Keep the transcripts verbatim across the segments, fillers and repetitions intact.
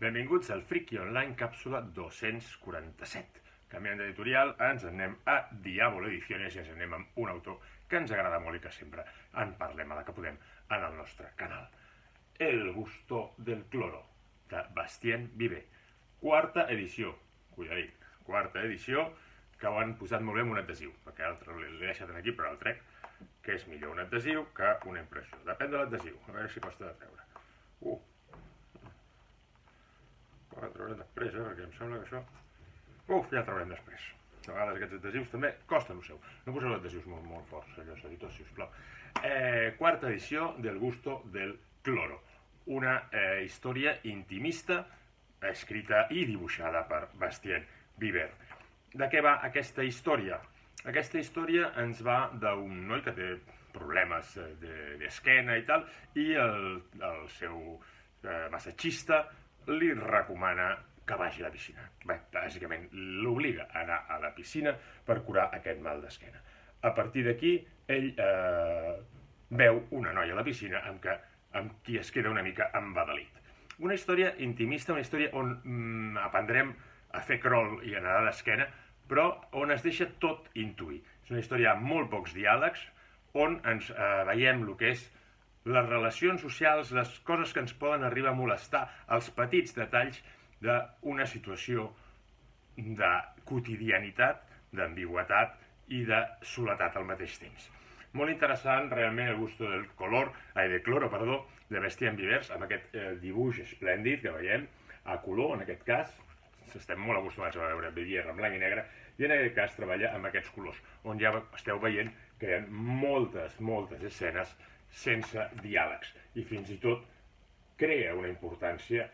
Benvinguts al Friki Online càpsula dos-cents quaranta-set. Canviant d'editorial, ens anem a Diablo Ediciones i ens anem amb un autor que ens agrada molt i que sempre en parlem a la que podem en el nostre canal. El gusto del cloro, de Bastien Viver. Quarta edició, cuidadit, quarta edició, que ho han posat molt bé amb un adhesiu, perquè l'altre l'he deixat aquí però el trec, que és millor un adhesiu que una impressió. Depèn de l'adhesiu, a veure si costa de treure. Uh, ho traurem després, eh, perquè em sembla que això... Uf, ja el traurem després. A vegades aquests adhesius també costen el seu. No poseu adhesius molt, molt forts, senyors editors, sisplau. Eh, quarta edició del gusto del cloro. Una eh, història intimista, escrita i dibuixada per Bastien Viver. De què va aquesta història? Aquesta història ens va d'un noi que té problemes d'esquena i tal, i el, el seu eh, massatgista li recomana que vagi a la piscina. Bé, bàsicament l'obliga a anar a la piscina per curar aquest mal d'esquena. A partir d'aquí, ell eh, veu una noia a la piscina amb, que, amb qui es queda una mica embadalit. Una història intimista, una història on mm, aprendrem a fer crawl i a nedar d'esquena, però on es deixa tot intuir. És una història amb molt pocs diàlegs, on ens eh, veiem el que és les relacions socials, les coses que ens poden arribar a molestar, els petits detalls d'una situació de quotidianitat, d'ambigüitat i de soledat al mateix temps. Molt interessant, realment, el gusto del color, ai, de cloro, perdó, de Bastien Viver, amb aquest eh, dibuix esplèndid que veiem, a color, en aquest cas, estem molt acostumats a veure Viver en blanc i negre, i en aquest cas treballa amb aquests colors, on ja esteu veient que hi ha moltes, moltes escenes sense diàlegs, i fins i tot crea una importància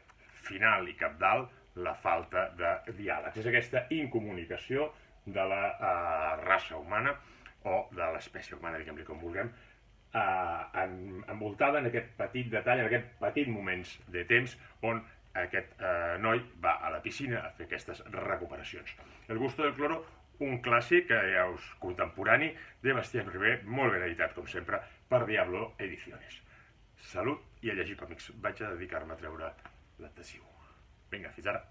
final i cabdal la falta de diàlegs. És aquesta incomunicació de la eh, raça humana o de l'espècie humana, diguem-li com vulguem, eh, en, envoltada en aquest petit detall, en aquest petit moments de temps on aquest eh, noi va a la piscina a fer aquestes recuperacions. El gusto del cloro, un clàssic, que ja us contemporani, de Bastien Viver, molt ben editat, com sempre, per Diablo Ediciones. Salut i a llegir còmics. Vaig a dedicar-me a treure l'adhesiu. Vinga, fins ara.